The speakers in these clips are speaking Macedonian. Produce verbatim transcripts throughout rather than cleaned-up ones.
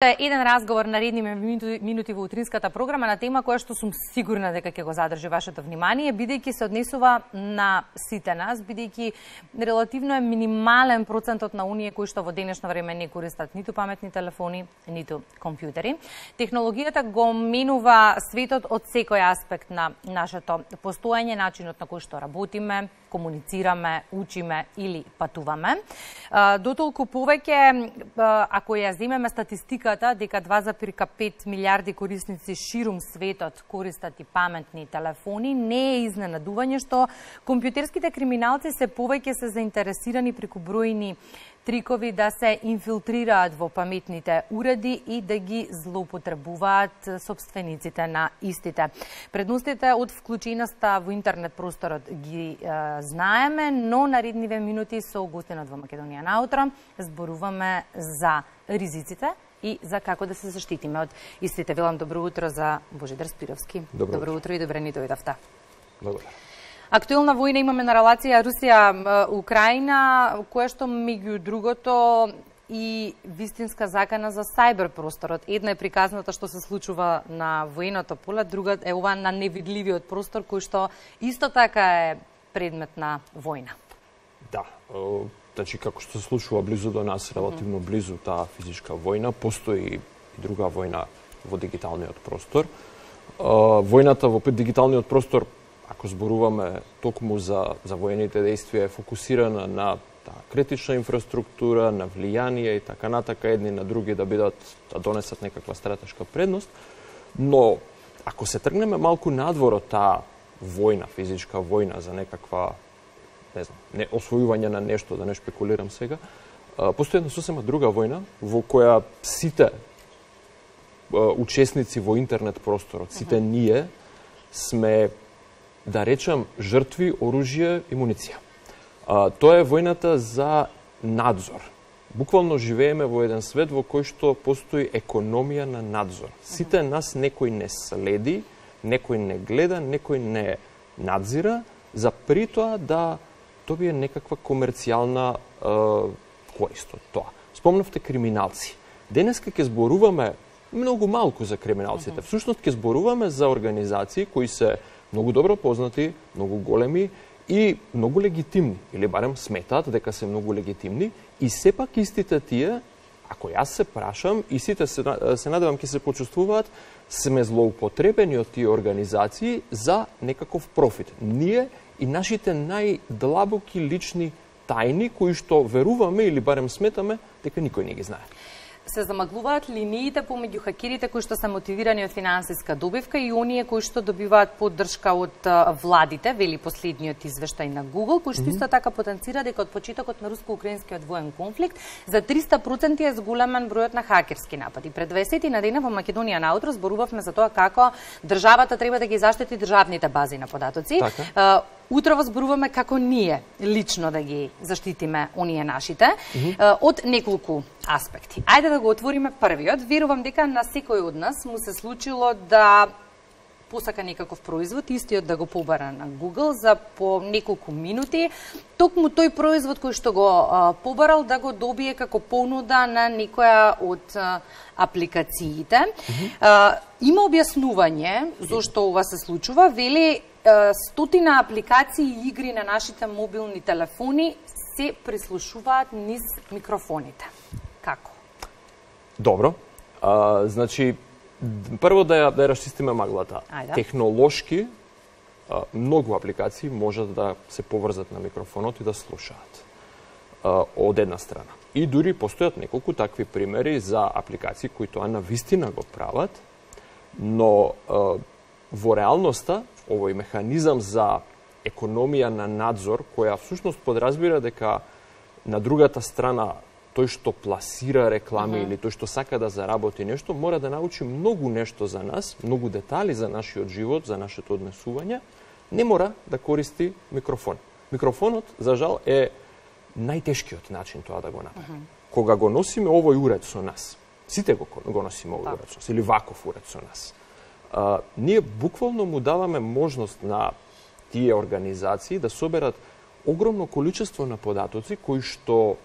Еден разговор на редни минути во утринската програма на тема која што сум сигурна дека ќе го задржи вашето внимание, бидејќи се однесува на сите нас, бидејќи релативно е минимален процентот на оние кои што во денешно време не користат ниту паметни телефони, ниту компјутери. Технологијата го менува светот од секој аспект на нашето постоење, начинот на кој што работиме, комуницираме, учиме или патуваме. Дотолку повеќе, ако ја земеме статистиката, дека два зарез пет милиарди корисници ширум светот користат и паметни телефони, не е изненадување што компјутерските криминалци се повеќе се заинтересирани преку бројни трикови да се инфилтрираат во паметните уреди и да ги злоупотребуваат собствениците на истите. Предностите од вклученоста во интернет просторот ги е, знаеме, но наредниве минути со гостинот во Македонија наутро зборуваме за ризиците и за како да се заштитиме од истите. Велам добро утро за Божидар Спировски. Добро, добро утро и добре ни дојдовте. Благодарам. Актуелна војна имаме на релација Русија-Украина, која што меѓу другото и вистинска закана за сајбер просторот. Една е приказната што се случува на военото поле, друга е ова на невидливиот простор кој што исто така е предмет на војна. Да, значи како што се случува близу до нас, релативно близу таа физичка војна, постои и друга војна во дигиталниот простор. Војната во дигиталниот простор, ако зборуваме токму за, за воените действија, е фокусирана на таа критична инфраструктура, на влијание и така натака, едни на други да бидат, да донесат некаква стратешка предност. Но, ако се тргнеме малку надвор од таа војна, физичка војна за некаква, не знам, не освојување на нешто, да не шпекулирам сега, постои една сосема друга војна во која сите учесници во интернет просторот, сите ние сме, да речам, жртви, оружје и муниција. А, тоа е војната за надзор. Буквално живееме во еден свет во кој што постои економија на надзор. Сите нас некој не следи, некој не гледа, некој не надзира, за при тоа да добие некаква комерцијална е, корист од тоа. Спомнавте криминалци. Денеска ќе зборуваме многу малку за криминалците. Всушност ќе зборуваме за организации кои се многу добро познати, многу големи и многу легитимни, или барем сметаат дека се многу легитимни, и сепак истите тие, ако јас се прашам, и сите се, се надевам ќе се почувствуваат, сме злоупотребени од тие организации за некаков профит. Ние и нашите најдлабоки лични тајни, кои што веруваме или барем сметаме дека никој не ги знае. Се замаглуваат линиите помеѓу хакерите кои што се мотивирани од финансиска добивка и оние кои што добиваат поддршка од владите, вели последниот извештај на Google, кој што исто така потенцира дека од почетокот на руско-украинскиот воен конфликт за триста проценти е зголемен бројот на хакерски напади. Пред дваесет на дена во Македонија наутро зборувавме за тоа како државата треба да ги заштити државните бази на податоци. Така. Утрово зборуваме како ние лично да ги заштитиме оние нашите, mm -hmm. од неколку аспекти. Ајде да го отвориме првиот. Верувам дека на секој од нас му се случило да посака некаков производ, истиот да го побара на Google за по неколку минути, токму тој производ кој што го а, побарал да го добие како понуда на некоја од а, апликациите. Mm -hmm. а, има објаснување зошто ова се случува. Вели стотина апликации и игри на нашите мобилни телефони се прислушуваат низ микрофоните. Како? Добро. А, значи, прво да ја, да ја расчистиме маглата. Ајде. Технолошки, а, многу апликации можат да се поврзат на микрофонот и да слушаат. А, од една страна. И дури постојат неколку такви примери за апликации кои тоа на вистина го прават, но а, во реалноста овој механизам за економија на надзор, која всушност подразбира дека на другата страна тој што пласира реклами uh -huh. или тој што сака да заработи нешто, мора да научи многу нешто за нас, многу детали за нашиот живот, за нашето однесување, не мора да користи микрофон. Микрофонот, за жал, е најтешкиот начин тоа да го направи. Uh -huh. Кога го носиме овој уред со нас, сите го, го носиме овој уред со нас, или ваков уред со нас, Uh, ние буквално му даваме можност на тие организации да соберат огромно количество на податоци кои што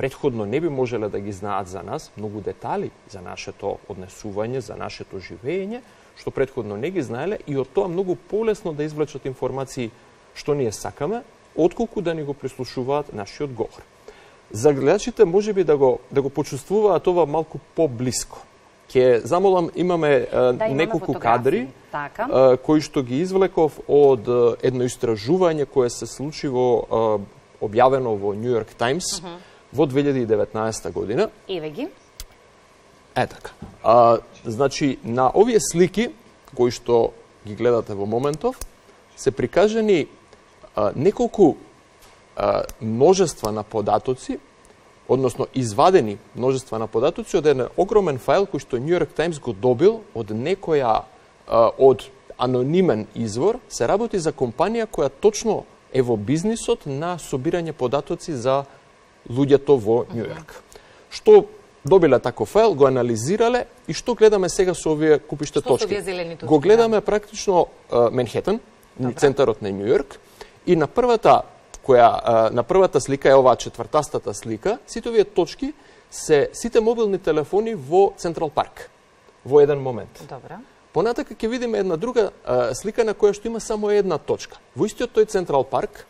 предходно не би можеле да ги знаат за нас, многу детали за нашето однесување, за нашето живење, што предходно не ги знаеле и од тоа многу полесно да извлечат информации што ние сакаме, отколку да ни го прислушуваат нашиот говор. За гледачите можеби да го да го почувствуваат ова малку поблиско. Ќе замолам, имаме да, неколку кадри така. а, кои што ги извлеков од а, едно истражување кое се случи во а, објавено во New York Times uh -huh. во две илјади и деветнаесета година. Еве ги. Е така. А, значи, на овие слики кои што ги гледате во моментов, се прикажани а, неколку а, множества на податоци, односно извадени множества на податоци од еден огромен файл кој што New York Times го добил од некоја, а, од анонимен извор, се работи за компанија која точно е во бизнисот на собирање податоци за луѓето во Нью Йорк. Што добиле таков файл, го анализирале и што гледаме сега со овие купиште точки? точки? точки? Го гледаме практично uh, Менхетен, центарот на Нью Йорк, и на првата која uh, на првата слика е оваа четвртастата слика, сите овие точки се сите мобилни телефони во Централ Парк во еден момент. Добра. Понатака ќе видиме една друга uh, слика на која што има само една точка. Во истиот тој Централ Парк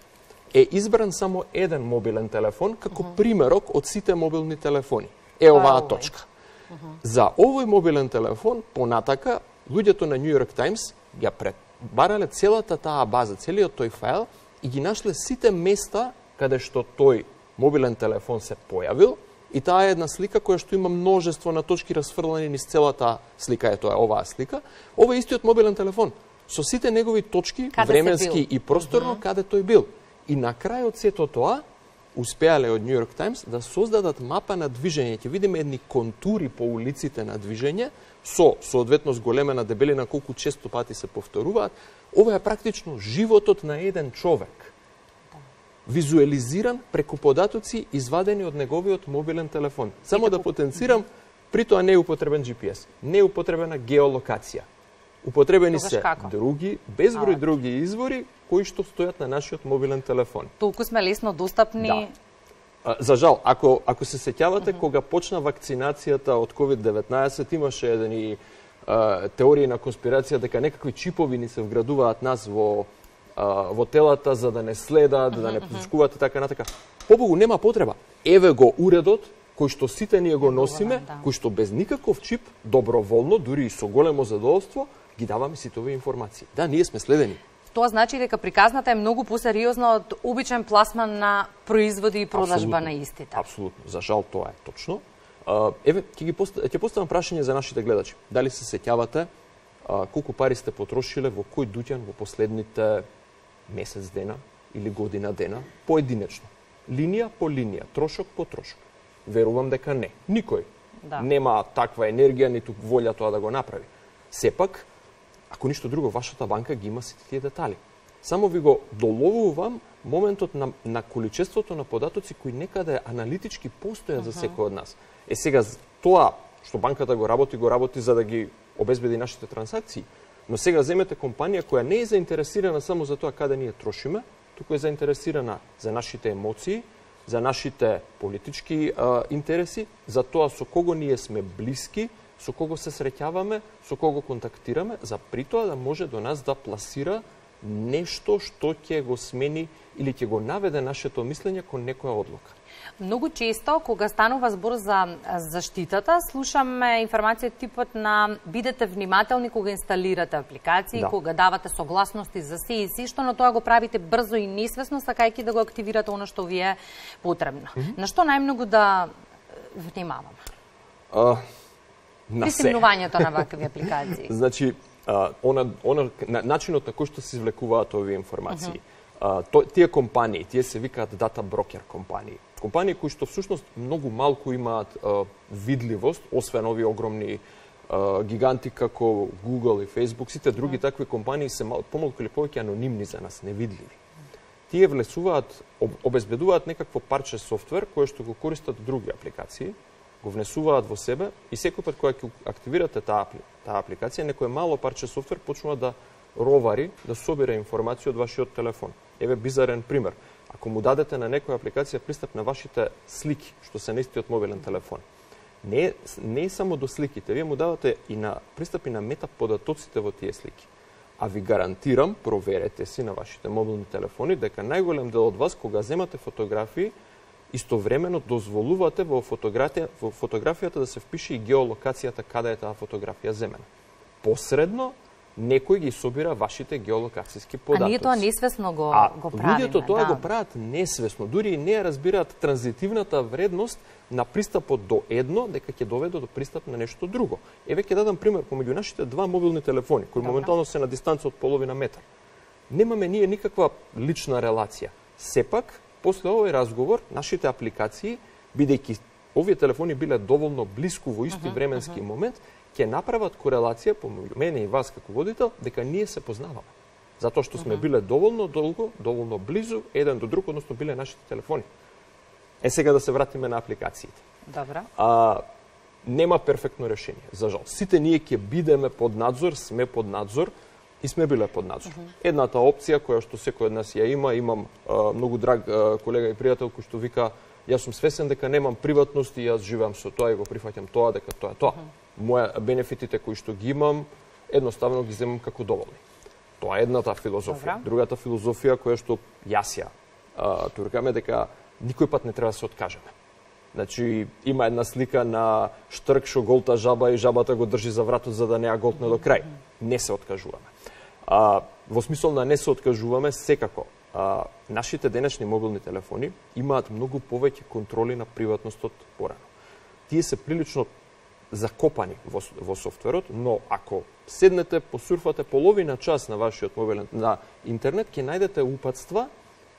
е избран само еден мобилен телефон како uh -huh. примерок од сите мобилни телефони. Е оваа точка. Uh -huh. За овој мобилен телефон, понатака, луѓето на New York Times ја пребарале целата таа база, целиот тој файл и ги нашле сите места каде што тој мобилен телефон се појавил и таа е една слика која што има множество на точки расфрлани низ целата слика, е тоа оваа слика. Ова е истиот мобилен телефон со сите негови точки, каде временски и просторно, uh -huh. каде тој бил. И на крај од сето тоа, успеале од New York Times да создадат мапа на движење. Ќе видиме едни контури по улиците на движење, со соодветно зголемена дебелина колку често пати се повторуваат. Ова е практично животот на еден човек. Визуализиран преку податоци извадени од неговиот мобилен телефон. Само да потенцирам, при тоа не е употребен Джи Пи Ес, не е употребена геолокација. Употребени Тогаш се како? други, безброј други извори кои што стојат на нашиот мобилен телефон. Толку сме лесно достапни. Да. А, за жал, ако ако се сеќавате, uh -huh. кога почна вакцинацијата од ковид деветнаесет, имаше едни а, теории на конспирација дека некакви чипови ни се вградуваат нас во а, во телата за да не следат, uh -huh, да не присушкуваат и така натака. Побогу нема потреба. Еве го уредот кој што сите ние го носиме, да. кој што без никаков чип, доброволно, дури и со големо задоволство, ги даваме сите овие информации. Да, ние сме следени. Тоа значи дека приказната е многу посериозна од обичен пласман на производи и продажба Абсолютно. На истите. Апсолутно. За жал тоа е точно. Uh, еве, ќе ги пост... ќе поставам прашање за нашите гледачи. Дали се сеќавате uh, колку пари сте потрошиле во кој дуќан во последните месец дена или година дена, поединечно? Линија по линија, трошок по трошок. Верувам дека не. Никој да. нема таква енергија, ниту волја тоа да го направи. Сепак, ако ништо друго, вашата банка ги има сите тие детали. Само ви го доловувам моментот на, на количеството на податоци кои некаде аналитички постојат uh -huh. за секој од нас. Е сега, тоа што банката го работи, го работи за да ги обезбеди нашите трансакции. Но сега земете компанија која не е заинтересирана само за тоа каде ние трошиме, туку е заинтересирана за нашите емоции, за нашите политички а, интереси, за тоа со кого ние сме блиски, со кого се среќаваме, со кого контактираме, за притоа да може до нас да пласира нешто што ќе го смени или ќе го наведе нашето мислење кон некоја одлука. Многу често, кога станува збор за заштитата, слушаме информација типот на бидете внимателни кога инсталирате апликации, да. кога давате согласности за се и се, што на тоа го правите брзо и несвесно, сакајќи да го активирате оно што ви е потребно. Mm -hmm. На што најмногу да внимаваме? Uh, на При симнувањето на вакви апликации. Значи, uh, она, она, на, начинот на кој што се извлекуваат овие информации. Mm -hmm. uh, то, тие компании, тие се викаат дата брокер компании. Компании кои што всушност многу малку имаат uh, видливост, освен овие огромни uh, гиганти како Google и Facebook, сите други mm. такви компании се мал, помалку или повеќе анонимни за нас, невидливи. Тие влесуваат, об, обезбедуваат некакво парче софтвер кое што го користат други апликации, го внесуваат во себе и секој пат кога ќе активирате таа, таа апликација, некое мало парче софтвер почнува да ровари, да собира информација од вашиот телефон. Еве бизарен пример. Ако му дадете на некоја апликација пристап на вашите слики, што се на истиот мобилен телефон, не, не е само до сликите, вие му давате и на пристапи на метаподатоците во тие слики. А ви гарантирам, проверете си на вашите мобилни телефони, дека најголем дел од вас, кога земате фотографии, истовремено дозволувате во, фотографија, во фотографијата да се впише и геолокацијата каде е таа фотографија земена. Посредно, некој ги собира вашите геолокацијски податоци. А ние тоа несвесно го, а, го правиме. Луѓето тоа да. го прават несвесно. Дури и не ја разбираат транзитивната вредност на пристапот до едно, дека ќе доведе до пристап на нешто друго. Еве ќе дадам пример помеѓу нашите два мобилни телефони, кои Добра. моментално се на дистанца од половина метар. Немаме ние никаква лична релација. Сепак, после овој разговор, нашите апликации, бидејќи овие телефони биле доволно блиску во исти uh -huh, временски uh -huh. момент, ќе направат корелација помеѓу мене и вас како водител, дека ние се познаваме. Затоа што сме uh -huh. биле доволно долго, доволно близу еден до друг, односно биле нашите телефони. Е сега да се вратиме на апликациите. Добра. А, нема перфектно решение, за жал. Сите ние ќе бидеме под надзор, сме под надзор и сме биле под надзор. Uh -huh. Едната опција која што секој од нас ја има, имам а, многу драг а, колега и пријател кој што вика јас сум свесен дека немам приватност и јас живеам со тоа и го прифаќам тоа дека тоа е тоа. Uh -huh. Моја бенефитите кои што ги имам, едноставно ги земам како доволни. Тоа е едната филозофија. Добра. Другата филозофија која што јас ја а, туркаме дека никој пат не треба да се откажеме. Значи, има една слика на штрк што голта жаба и жабата го држи за вратот за да не ја голтне до крај. Не се откажуваме. А, во смисол на не се откажуваме, секако. А, нашите денешни мобилни телефони имаат многу повеќе контроли на приватностот порано. Тие се прилично закопани во, во софтверот, но ако седнете, посурфате половина час на вашиот мобилен на интернет, ќе најдете упатства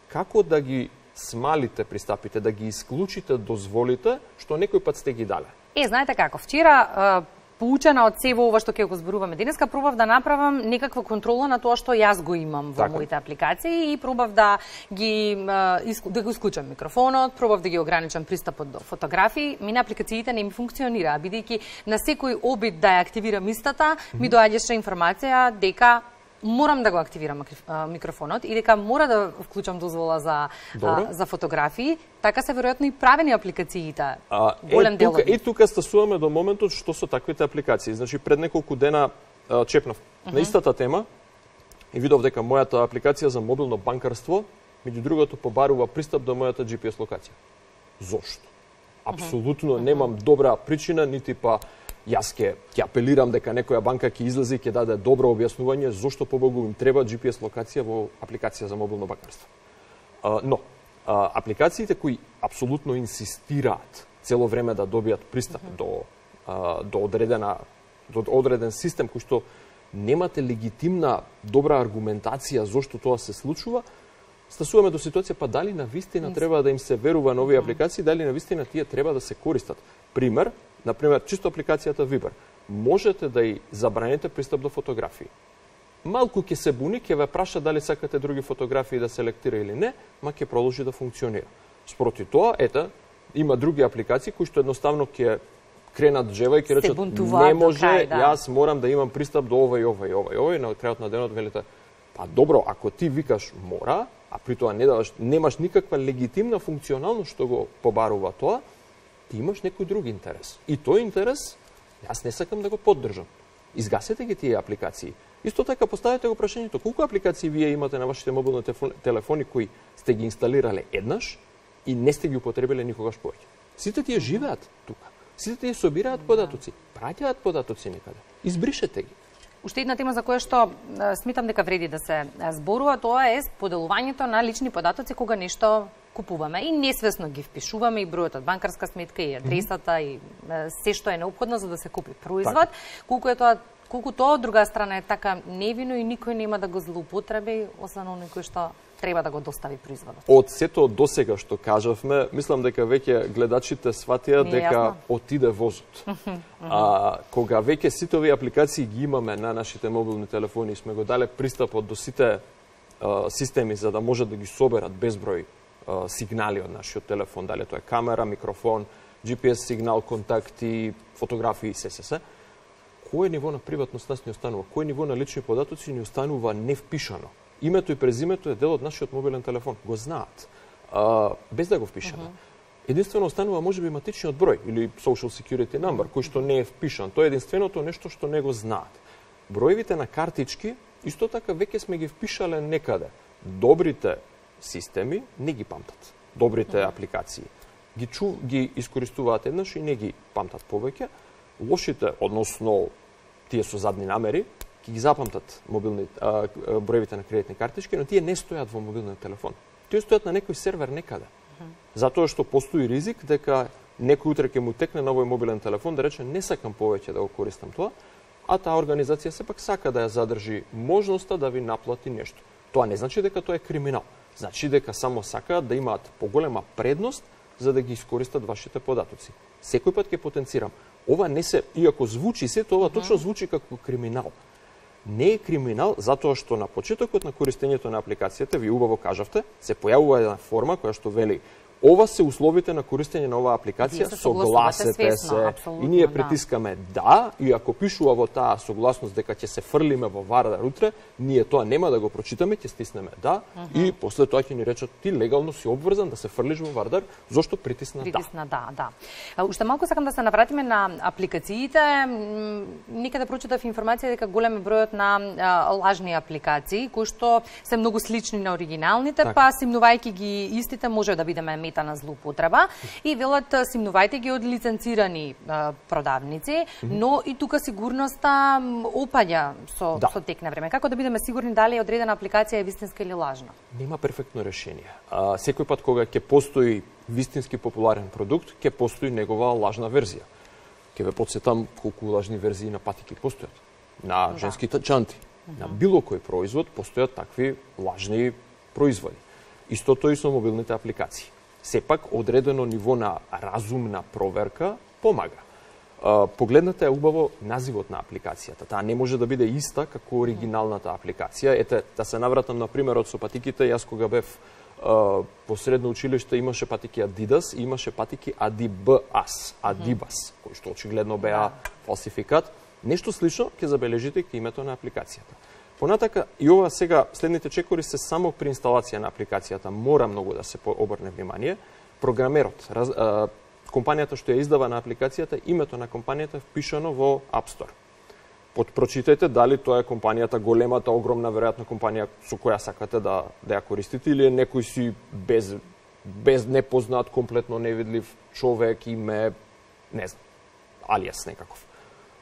како да ги смалите пристапите, да ги исклучите дозволите што некој пат сте ги дале. Е, знаете како, вчера поучена од сево ова што ќе го зборуваме денеска, пробав да направам некаква контрола на тоа што јас го имам во така. Моите апликации и пробав да ги да го исклучам микрофонот, пробав да ги ограничам пристапот до фотографии. Ми на апликациите не ми функционира, бидејќи на секој обид да ја активирам истата, ми доаѓаше информација дека морам да го активирам микрофонот и дека мора да вклучам дозвола за а, за фотографии, така се веројатно и правени апликациите. А, голем е, дел. Тука, и тука стасуваме до моментот што со таквите апликации. Значи пред неколку дена а, чепнав uh -huh. на истата тема и видов дека мојата апликација за мобилно банкарство меѓу другото побарува пристап до мојата Джи Пи Ес локација. Зошто? Апсолутно uh -huh. немам добра причина, нити па јас ќе ќе апелирам дека некоја банка ќе излезе и ќе даде добро објаснување зошто побогу им треба Джи Пи Ес локација во апликација за мобилно банкарство. А, но, а, апликациите кои апсолутно инсистираат цело време да добијат пристап uh -huh. до, а, до, одредена, до одреден систем кој што немате легитимна добра аргументација зошто тоа се случува, стасуваме до ситуација па дали на вистина треба да им се верува на овие апликации, дали на вистина тие треба да се користат. Пример, например, чисто апликацијата Viber. Можете да и забраните пристап до фотографии. Малку ќе се буни, ќе ве праша дали сакате други фотографии да селектира или не, ма ќе продолжи да функционира. Спроти тоа, ета, има други апликации кои што едноставно ќе кренат джева и ќе речат не може, крај, да. Јас морам да имам пристап до ова и ова и ова и ова и на крајот на денот велите па добро, ако ти викаш мора, а при тоа не даваш, немаш никаква легитимна функционалност што го побарува тоа, ти имаш некој друг интерес. И тој интерес, јас не сакам да го поддржам. Изгасете ги тие апликации. Исто така поставете го прашањето, колку апликации вие имате на вашите мобилни телефони кои сте ги инсталирале еднаш и не сте ги употребиле никогаш повеќе. Сите тие живеат тука. Сите тие собираат податоци, праќаат податоци некаде. Избришете ги. Уште една тема за која што сметам дека вреди да се зборува, тоа е споделувањето на лични податоци кога нешто купуваме и несвесно ги впишуваме и бројот од банкарска сметка и адресата mm -hmm. и се што е неопходно за да се купи производ. Так. Колку е тоа, колку тоа од друга страна е така невино и никој нема да го злоупотреби, освен оној кој што треба да го достави производот. Од сето досега што кажавме, мислам дека веќе гледачите сватија дека јасно. Отиде возот. А кога веќе сите овие апликации ги имаме на нашите мобилни телефони и сме го дале пристапот до сите а, системи за да може да ги соберат безброј а, сигнали од нашиот телефон, дали тоа е камера, микрофон, Джи Пи Ес сигнал, контакти, фотографии и се се се. Кој ниво на приватност нас ни останува? Кој ниво на лични податоци ни останува невпишано? Името и презимето е дел од нашиот мобилен телефон. Го знаат. а, без да го впишаме. Uh -huh. Единствено останува можеби матичниот број или social security number, кој што не е впишан. Тоа е единственото нешто што не го знаат. Броевите на картички исто така веќе сме ги впишале некаде. Добрите системи не ги памтат. Добрите uh -huh. апликации ги чу, ги искористуваат еднаш и не ги памтат повеќе. Лошите, односно тие со задни намери, ќе ги запамтат мобилни а, броевите на кредитни картички, но тие не стојат во мобилниот телефон. Тие стојат на некој сервер некаде. Uh -huh. Затоа што постои ризик дека некој утре ќе му текне на овој мобилен телефон да рече не сакам повеќе да го користам тоа, а таа организација сепак сака да ја задржи можноста да ви наплати нешто. Тоа не значи дека тоа е криминал. Значи дека само сакаат да имаат поголема предност за да ги искористат вашите податоци. Секој пат ќе потенцирам. Ова не се, иако звучи се, тоа uh -huh. точно звучи како криминал. Не е криминал затоа што на почетокот на користењето на апликацијата, ви убаво кажавте, се појавува една форма која што вели ова се условите на користење на оваа апликација, се согласете свесно, се. И ние притискаме да. да, и ако пишува во таа согласност дека ќе се фрлиме во Вардар утре, ние тоа нема да го прочитаме, ќе стиснеме да, uh -huh. и после тоа ќе ни речат ти легално си обврзан да се фрлиш во Вардар, зошто притисна, притисна да. да, да. Уште малку сакам да се навратиме на апликациите. Некаде прочитав информација дека голем е бројот на а, лажни апликации кои што се многу слични на оригиналните, так. па симнувајќи ги истите може да бидеме на злоупотреба и велат симнувајте ги од лиценцирани а, продавници, mm -hmm. но и тука сигурноста опаѓа со, да. со тек на време. Како да бидеме сигурни дали одредена апликација е вистинска или лажна? Нема перфектно решение. А, секој пат кога ќе постои вистински популарен продукт, ќе постои негова лажна верзија. Ќе ве потсетам колку лажни верзии на патики постојат. На да. женските чанти, mm -hmm. на било кој производ постојат такви лажни производи. Истото и со мобилните апликации. Сепак, одредено ниво на разумна проверка помага. Погледнете убаво називот на апликацијата. Таа не може да биде иста како оригиналната апликација. Ете, да се навратам на примерот со патиките, јас кога бев по средно училиште имаше патики Adidas и имаше патики Adibas, Adibas, кои што очигледно беа фалсификат. Нешто слично ќе забележите кај името на апликацијата. Понатака, и ова сега, следните чекори се само при инсталација на апликацијата, мора многу да се обрне внимание. Програмерот, раз, а, компанијата што ја издава на апликацијата, името на компанијата е впишано во App Store. Подпрочитајте дали тоа е компанијата големата, огромна, веројатно компанија со која сакате да, да ја користите, или е некој си без, без непознат, комплетно невидлив човек, име, не знам, алиас некаков.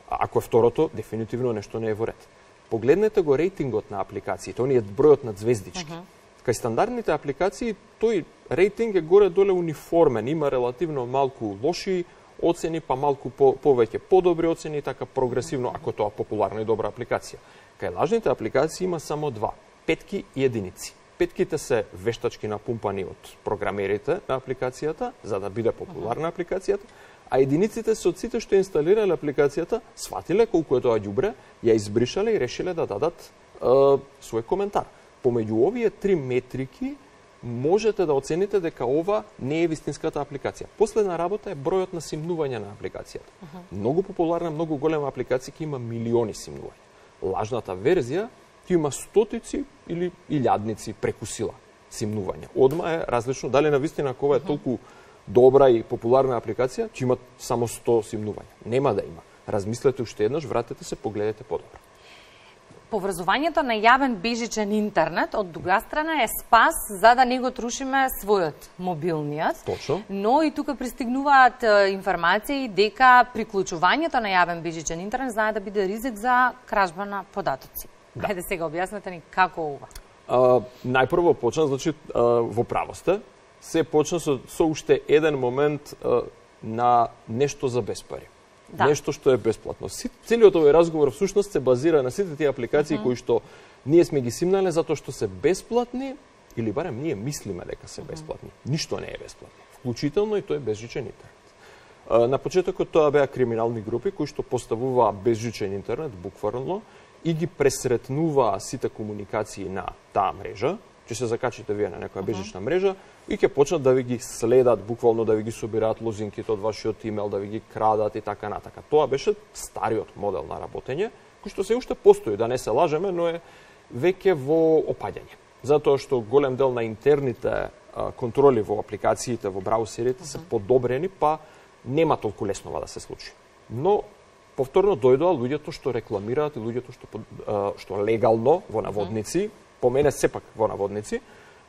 Ако е второто, дефинитивно нешто не е во ред. Погледнете го рейтингот на апликациите, оние бројот на звездички. Uh -huh. Кај стандардните апликации, тој рейтинг е горе-доле униформен, има релативно малку лоши оцени, па малку по, повеќе подобри оцени, така прогресивно, ако тоа популарна и добра апликација. Кај лажните апликации има само два, петки и единици. Петките се вештачки напумпани од програмерите на апликацијата, за да биде популарна апликацијата, а единиците се од сите што инсталирале апликацијата, сватиле колку е тоа ѓубре, ја избришале и решиле да дадат е, свој коментар. Помеѓу овие три метрики можете да оцените дека ова не е вистинската апликација. Последна работа е бројот на симнување на апликацијата. Uh -huh. Многу популарна, многу голема апликација ќе има милиони симнувања. Лажната верзија ќе има стотици или илјадници преку сила симнувања. Одма е различно дали на вистина кога е толку добра и популарна апликација, ќе има само сто симнувања. Нема да има. Размислете уште еднаш, вратете се, погледнете подобро. Поврзувањето на јавен бежичен интернет од друга страна е спас за да не го трушиме својот мобилниот. Точно. Но и тука пристигнуваат информации дека приклучувањето на јавен бежичен интернет знае да биде ризик за кражба на податоци. Да. Ајде сега објаснете ни како ова. А, најпрво почна, значи, а, во право сте, се почна со, со уште еден момент а, на нешто за безпари. Да. Нешто што е бесплатно. Целиот овој разговор всушност се базира на сите тие апликации mm -hmm. кои што ние сме ги симнале затоа што се бесплатни, или барем ние мислиме дека се бесплатни. Mm -hmm. Ништо не е бесплатно. Вклучително и тој безжичен интернет. На почетокот тоа беа криминални групи кои што поставуваа безжичен интернет буквално и ги пресретнуваа сите комуникации на таа мрежа. Ќе се закачите вие на некоја безжична мрежа и ќе почнат да ви ги следат, буквално да ви ги собираат лозинките од вашиот имејл, да ви ги крадат и така натака. Тоа беше стариот модел на работење, кој што се уште постои, да не се лажеме, но е веќе во опаѓање. Затоа што голем дел на интерните а, контроли во апликациите, во браузерите се подобрени, па нема толку лесно да се случи. Но повторно дојдоа луѓето што рекламираат и луѓето што а, што легално во наводници, по мене сепак во наводници,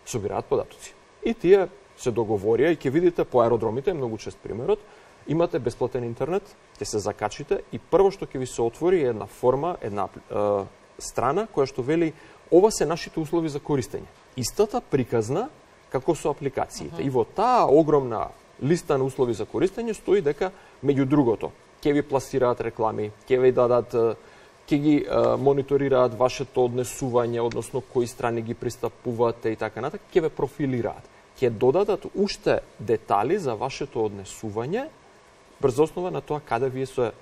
собираат податоци. И тие се договорија и ќе видите по аеродромите, многу чест примерот, имате бесплатен интернет, ќе се закачите и прво што ќе ви се отвори е една форма, една е, страна која што вели ова се нашите услови за користење. Истата приказна како со апликациите. Uh -huh. И во таа огромна листа на услови за користење стои дека меѓу другото ќе ви пласираат реклами, ќе ви дадат, ќе ги е, мониторираат вашето однесување, односно кои страни ги пристапувате и така натаму, ќе ве профилираат. Ќе додадат уште детали за вашето однесување врз основа на тоа каде вие се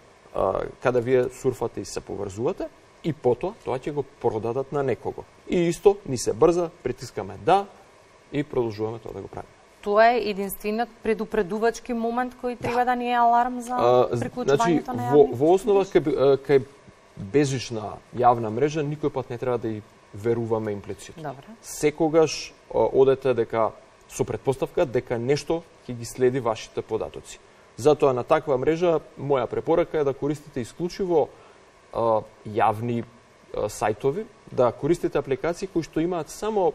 каде вие сурфате и се поврзувате и потоа тоа ќе го продадат на некого. И исто ни се брза, притискаме да и продолжуваме тоа да го правиме. Тоа е единствениот предупредувачки момент кој треба да ни е аларм за приклучувањето значи, на јавни? Во, во основа кај, кај безжична јавна мрежа никој пат не треба да и веруваме имплицитно. Добре. Секогаш одете дека со претпоставка дека нешто ќе ги следи вашите податоци. Затоа на таква мрежа моја препорака е да користите исклучиво а, јавни а, сајтови, да користите апликации кои што имаат само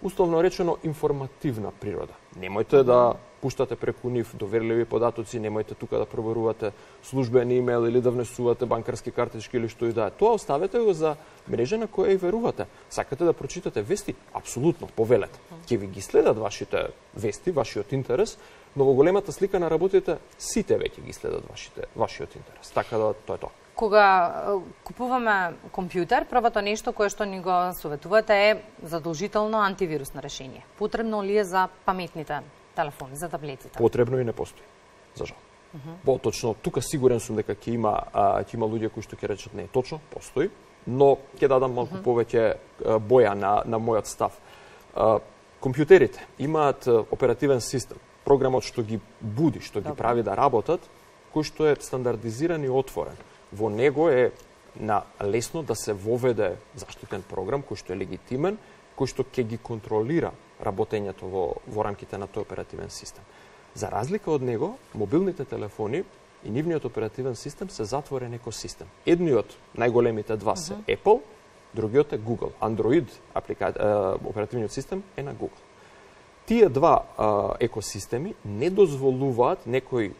условно речено информативна природа. Немојте да пуштате преку нив доверливи податоци, немојте тука да проверувате службен имејл или да внесувате банкарски картички или што и да е. Тоа оставете го за мрежа на која и верувате. Сакате да прочитате вести? Апсолутно, повелете. Ќе ви ги следат вашите вести, вашиот интерес, но во големата слика на работите сите веќе ги следат вашите вашиот интерес. Така да тоа е тоа. Кога купуваме компјутер, првото нешто кое што ни го советувате е задолжително антивирусно решение. Потребно ли е за паметните телефони, за таблетите? Потребно и не постои, за жал. Uh -huh. Поточно, тука сигурен сум дека ќе има а, ќе има луѓе кои што ќе речат не е точно, постои, но ќе дадам малку uh -huh. повеќе а, боја на на мојот став. А, компјутерите имаат оперативен систем, програмот што ги буди, што ги Добре. прави да работат, кој што е стандардизиран и отворен. Во него е на лесно да се воведе заштитен програм кој што е легитимен, кој што ќе ги контролира работењето во, во рамките на тој оперативен систем. За разлика од него, мобилните телефони и нивниот оперативен систем се затворен екосистем. Едниот, најголемите два се uh -huh. Apple, другиот е Google. Android аплика... оперативниот систем е на Google. Тие два а, екосистеми не дозволуваат некој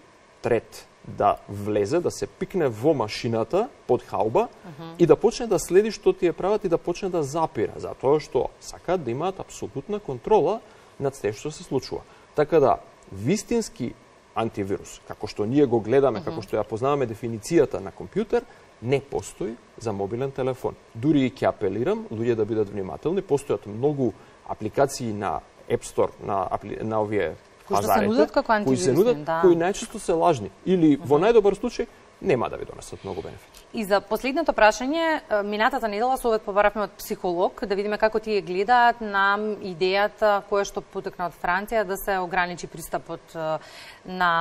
трет да влезе, да се пикне во машината под хауба uh -huh. и да почне да следи што тие прават и да почне да запира, затоа што сакаат да имаат апсолутна контрола над се што се случува. Така да, вистински антивирус, како што ние го гледаме, uh -huh. како што ја познаваме дефиницијата на компјутер, не постои за мобилен телефон. Дури и ќе апелирам луѓе да бидат внимателни, постојат многу апликации на App Store, на, на овие кои што се нудат како антивирусни, кои се нудат, да. кои најчесто се лажни или uh -huh. во најдобар случај нема да ви донесат многу бенефити. И за последното прашање, минатата недела совет побаравме од психолог да видиме како тие гледаат на идејата која што потекна од Франција да се ограничи пристапот на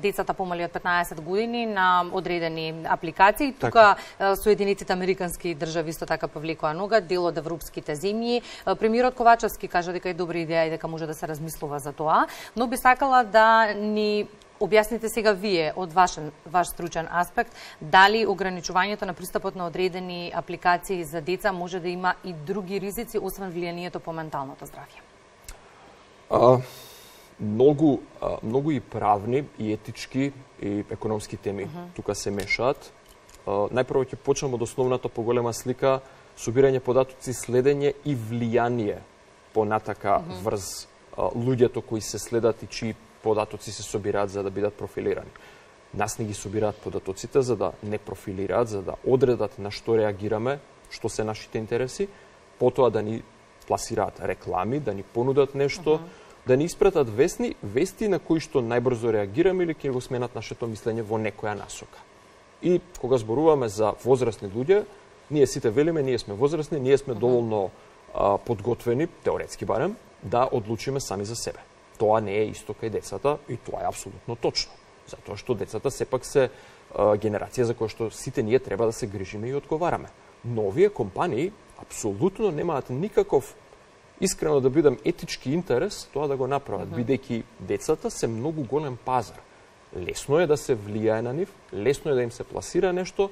децата помали од петнаесет години на одредени апликации. Тука Соединетите американски држави исто така повлекоа нога, дел од европските земји. Премиерот Ковачевски кажа дека е добра идеја и дека може да се размислува за тоа, но би сакала да ни објасните сега вие од ваш, ваш стручен аспект, дали ограничувањето на пристапот на одредени апликации за деца може да има и други ризици, освен влијанието по менталното здравје? А, многу, а, многу и правни, и етички, и економски теми uh -huh. тука се мешаат. А, најпрво ќе почнем од основната поголема слика, собирање податоци, следење и влијание понатака uh -huh. врз а, луѓето кои се следат и чии податоци се собираат за да бидат профилирани. Нас не ги собираат податоците за да не профилираат, за да одредат на што реагираме, што се нашите интереси, потоа да ни пласираат реклами, да ни понудат нешто, uh -huh. да ни испратат вестни, вести на кои што најбрзо реагираме или ќе го сменат нашето мислење во некоја насока. И кога зборуваме за возрастни луѓе, ние сите велиме, ние сме возрастни, ние сме uh -huh. доволно а, подготвени, теоретски барем, да одлучиме сами за себе. Тоа не е исто кај децата и тоа е апсолутно точно. Затоа што децата сепак се а, генерација за која што сите ние треба да се грижиме и одговараме. Но овие компании апсолутно немаат никаков искрено да бидам етички интерес тоа да го направат, mm-hmm. бидејќи децата се многу голем пазар. Лесно е да се влијае на нив, лесно е да им се пласира нешто,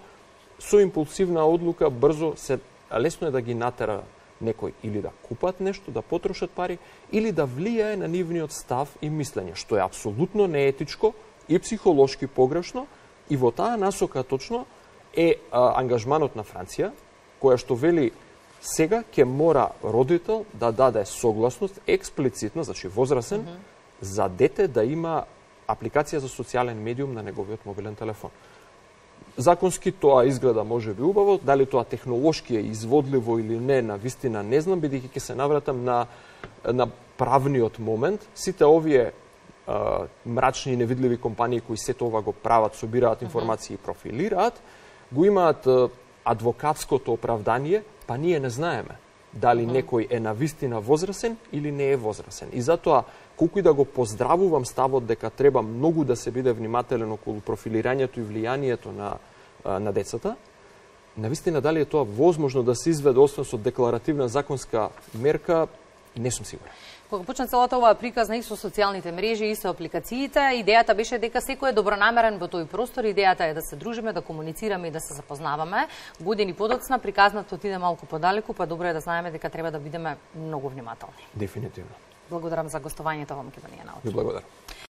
со импулсивна одлука брзо се лесно е да ги натера некој или да купат нешто, да потрошат пари, или да влијае на нивниот став и мислење, што е апсолутно неетичко и психолошки погрешно, и во таа насока точно е а, ангажманот на Франција, која што вели сега ќе мора родител да даде согласност експлицитна, значи возрасен, mm -hmm. за дете да има апликација за социјален медиум на неговиот мобилен телефон. Законски тоа изгледа може би убаво, дали тоа технолошки е изводливо или не, на вистина не знам, бидејќи ќе се навратам на, на правниот момент. Сите овие а, мрачни и невидливи компании кои сето ова го прават, собираат информации и профилираат, го имаат а, адвокатското оправдание, па ние не знаеме дали некој е навистина возрасен или не е возрасен. И затоа, колку и да го поздравувам ставот дека треба многу да се биде внимателен околу профилирањето и влијанието на, на децата, навистина дали е тоа возможно да се изведе освен со декларативна законска мерка, не сум сигурен. Кога почна целата оваа приказна и со социјалните мрежи и со апликациите, идејата беше дека секој е добронамерен во тој простор, идејата е да се дружиме, да комуницираме и да се запознаваме. Години подоцна приказната отиде малку подалеку, па добро е да знаеме дека треба да бидеме многу внимателни. Дефинитивно. Благодарам за гостувањето во Македонија научи. Ви благодарам.